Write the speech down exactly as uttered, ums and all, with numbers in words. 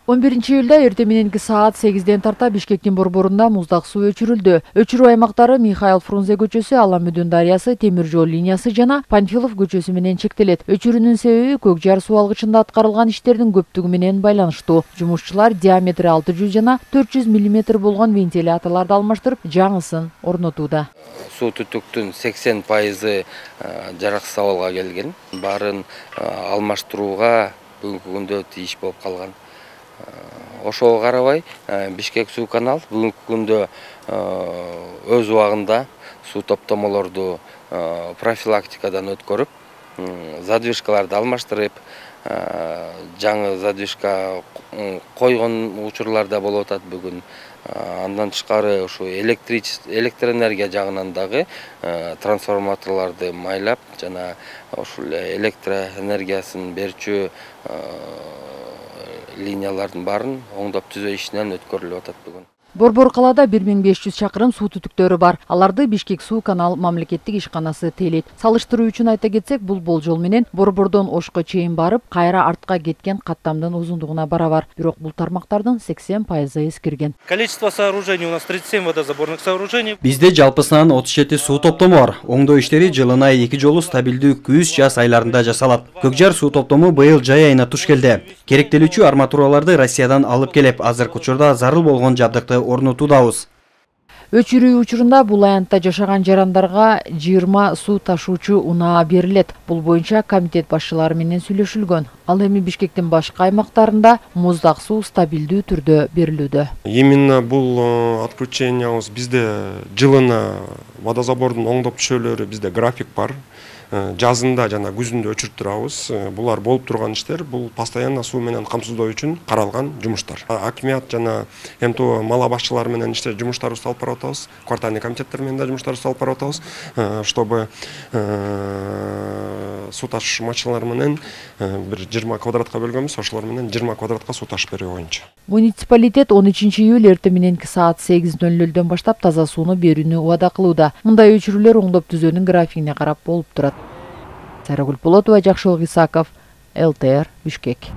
он биринчи июлда эртең мененки саат сегизден тарта Бишкектин борборунда муздак суу өчүрүлдү. Өчүрүү аймактары Михаил Фрунзе көчөсү, Аламүдүн дарыясы, темир жол линиясы жана Панфилов көчөсү менен чектелет. Өчүрүүнүн себеби Көкжар суу алгычында аткарылган иштердин көптүгү менен байланыштуу. Жумушчулар диаметри алты жүз жана төрт жүз миллиметр болгон вентиляторлорду алмаштырып, жаңысын орнотууда. Суу түтүктүн сексен пайызы жараксыз абалга келген. Баарын алмаштырууга бүгүнкү күндө тийиш болуп калган. Ошого карабай Бишкек суу канал бүгүнкү күндө өз убагында суу топтомолорду профилактикадан өткөрүп, задвижкаларды алмаштырып, жаңы задвижка койгон учурлар да болуп атат бүгүн. Андан тышкары ушу электроэнергия жагынан дагы трансформаторлорду майлап жана ушул электроэнергиясын берүүчү линиялардын баарын оңдоп түзөө ишинен өткөрүлүп атат бүгүн. Борбор калаада бир миң беш жүз чакырым суу түтүктөрү бар. Аларды Бишкек суу канал мамлекеттик ишканасы тейлейт. Салыштыруу үчүн айта кетсек, бул болжол менен борбордон Ошко чейин барып, кайра артка кеткен каттамдын узундугуна барабар. Бирок бул тармактардын сексен пайызы эскирген. Количество сооружений у нас тридцать семь водозаборных сооружений. Бизде жалпысынан отуз жети суу топтому бар. Оңдоо иштери жылына эки жолу стабилдүү күз жаз айларында жасалат. Көкжар суу топтому быйыл жай айына туш келди. Керектелүүчү арматураларды Россиядан алып келип, азыркы учурда зарыл болгон жабдыкты орнотуудабыз. Өчүрүү учурунда бул аянтта жашаган жарандарга жыйырма суу ташуучу унаа берилет. Бул боюнча комитет башчылары менен сүйлөшүлгөн. Ал эми Бишкектин башка аймактарында муздак суу стабилдүү түрдө берилүүдө. Именно бул отключениябыз бизде жылына водозабордун оңдоп түшөлөрү бизде график бар. Жазында жана күзүндө өчүрүп турабыз. Булар болуп турган иштер, бул постоянно суу менен камсыздоо үчүн каралган жумуштар. Акимият жана МТО мала башчылары менен иштер жумуштарыбызды алып барып атабыз. Квартальный комитеттер менен да жумуштарыбызды алып барып атабыз, чтобы суу ташуучу машиналар менен бир жыйырма квадратка бөлгөнбүз, ошолор менен жыйырма квадратка суу ташып берүү боюнча. Муниципалитет он үчүнчү июль эртең мененки саат сегиз ноль нольдөн баштап таза сууну берүүнү убада кылууда. Мындай өчүрүүлөр оңдоп түзөөнүн графигине карап болуп турат. Сайрагүл Болотова, Жакшылык Исаков, эл тэ эр, Бишкек.